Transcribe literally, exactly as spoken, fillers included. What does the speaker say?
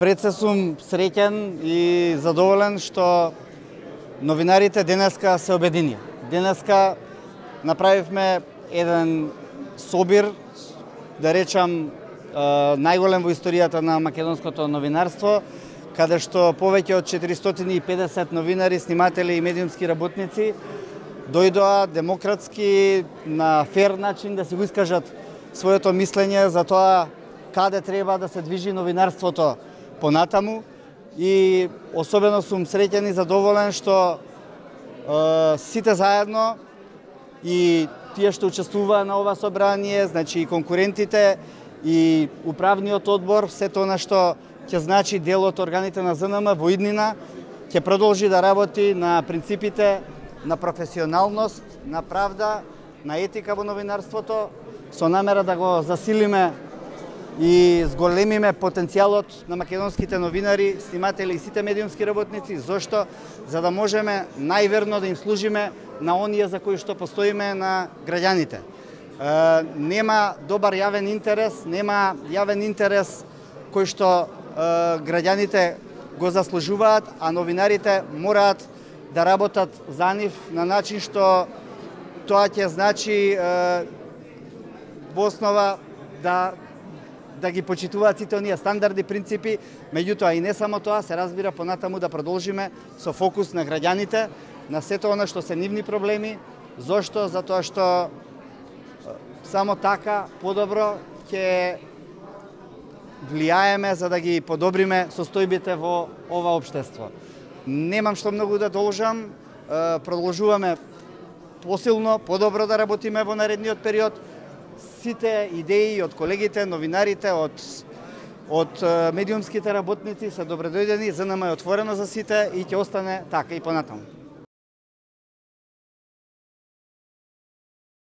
Пред се сум среќен и задоволен што новинарите денеска се обедини. Денеска направивме еден собир, да речам, најголем во историјата на македонското новинарство, каде што повеќе од четиристотини и педесет новинари, сниматели и медиумски работници дојдоа демократски, на фер начин да си го искажат своето мислење за тоа каде треба да се движи новинарството понатаму, и особено сум среќен и задоволен што е, сите заедно и тие што учествуваа на ова собрание, значи и конкурентите и управниот одбор, сето она што ќе значи дел од органите на ЗНМ во иднина, ќе продолжи да работи на принципите на професионалност, на правда, на етика во новинарството, со намера да го засилиме и зголемиме потенцијалот на македонските новинари, сниматели и сите медиумски работници. Зошто? За да можеме најверно да им служиме на оние за кои што постоиме на граѓаните. Е, нема добар јавен интерес, нема јавен интерес кој што е, граѓаните го заслужуваат, а новинарите мораат да работат за нив на начин што тоа ќе значи е, во основа да да ги почитуваат сите оние стандарди, принципи, меѓутоа и не само тоа, се разбира понатаму да продолжиме со фокус на граѓаните, на сето она што се нивни проблеми. Зошто? Затоа што само така подобро ќе влијаеме за да ги подобриме состојбите во ова општество. Немам што многу да должам, продолжуваме посилно, подобро да работиме во наредниот период. Сите идеи од колегите, новинарите, од, од медиумските работници се добредојдени, ЗНМ е отворено за сите и ќе остане така и понатаму.